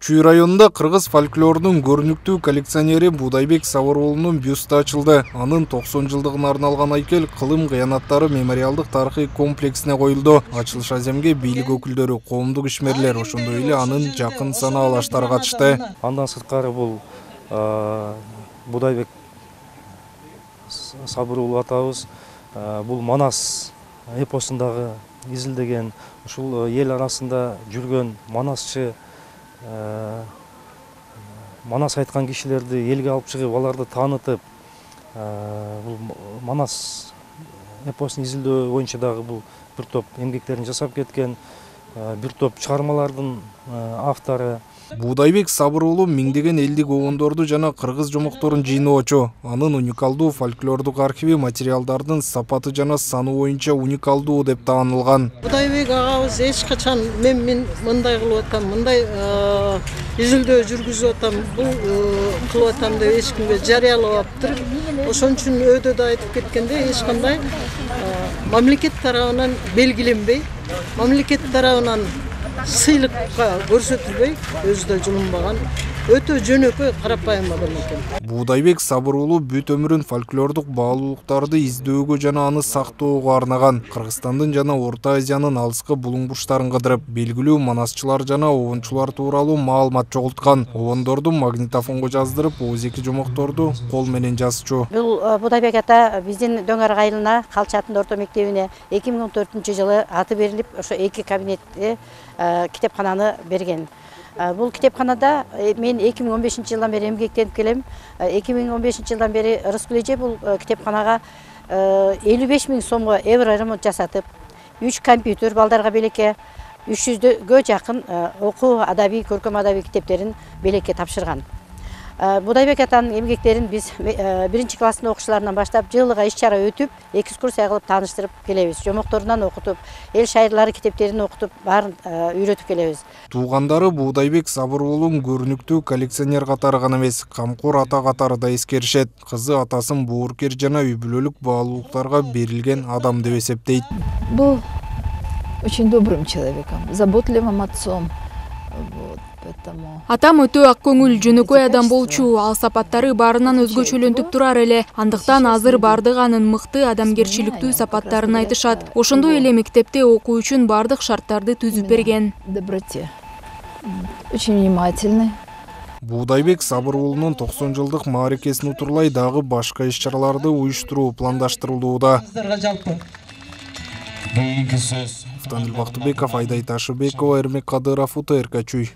Чүй районунда кыргыз фольклорунун көрүнүктүү коллекционери Будайбек Сабыр уулунун бюсту ачылды. Анын 90 жылдыгына арналган айкел Кылым кыянаттары мемориалдык тарыхый комплексине коюлду. Ачылыш аземге бийлик өкүлдөрү, коомдук ишмерлер, ошондой эле анын жакын санаалаштары катышты. Андан сырткары бул Будайбек Сабыр уулу атабыз бул Манас эпосундагы изилдеген, ушул эл арасында жүргөн манасчы, Манас айткан кишилерди элге алып чыгып, аларды таанытып, бул Манас эпосун изилдөө боюнча дагы бул бир топ эмгектерин жасап кеткен, бир топ чыгармалардын автору. Будайбек Сабыр уулу миңдеген элдик обондорду жана кыргыз жомокторун жыйноочу. Анын уникалдуу фольклордук архиви материалдардын сапаты жана саны боюнча уникалдуу деп таанылган. Будайбек агабыз эч качан мен мындай кылып атам, мындай изилдөө жүргүзүп атам, бул кылып атам деп эч кимге жарыялабаптыр. Ошон үчүн өйдө да айтып кеткенде эч кандай мамлекет тарабынан белгиленбей, мамлекет тарабынан сыйлыкка көрсөтүлбөй, өзү да жулунбаган өтө жөнөкөй карапайым адам экен. Будайбек Сабыр уулу бүт өмүрүн фольклордук баалуулуктарды издөөгө жана аны сактоого арнаган. Кыргызстандын жана Орто Азиянын алыскы булуң бурчтарын кыдырып, белгилүү манасчылар жана обончулар тууралуу маалымат чогулткан. Обондорду магнитофонго жаздырып, оозеки жомокторду кол менен жазчу. Бул Будайбек ата биздин Дөңөрөк айылына, Калчатын орто мектебине 2014-жылы аты берилип, ошо 2 кабинетте китепкананы берген. Бул китепканада мен 2015-жылдан бери эмгектенип келем. 2015-жылдан бери Рыскүл эже бул китепканага 55 000 сомго евро ремонт жасатып, 3 компьютер балдарга белекке, 300гө жакын окуу адабий, көркөм адабий китептерин белекке тапшырган. Будайбек атанын эмгектерин биз 1-класстын окуучуларынан баштап жылыга иш-чара өтүп, экскурсия кылып тааныштырып келебиз. Жомокторунан окутуп, эл шайырлары китептерин окутуп, баарын үйрөтүп келебиз. Туугандары Будайбек Сабыр уулун көрүнүктүү коллекционер катары гана эмес, камкор ата катары да эскеришет. Кызы атасын боорукер жана үй бүлөлүк баалуулуктарга берилген адам деп эсептейт. Был очень добрым человеком, заботливым отцом. Атам өтө ак көңүл, жөнөкөй адам болчу, ал сапаттары баарынан өзгөчөлөнтүп турар эле. Андыктан азыр бардык анын мыкты адамгерчиликтүү сапаттарын айтышат. Ошондой эле мектепте окуу үчүн бардык шарттарды түзүп берген. Доброте. Очень внимательный. Будайбек Сабыр уулунун 90 жылдык мааракесин утурлай дагы башка иш-чараларды уюштуруу пландаштырылууда. Автандил Бактыбеков, Айдай Ташыбекова, Эрмек Кадыров, УТРК Чүй.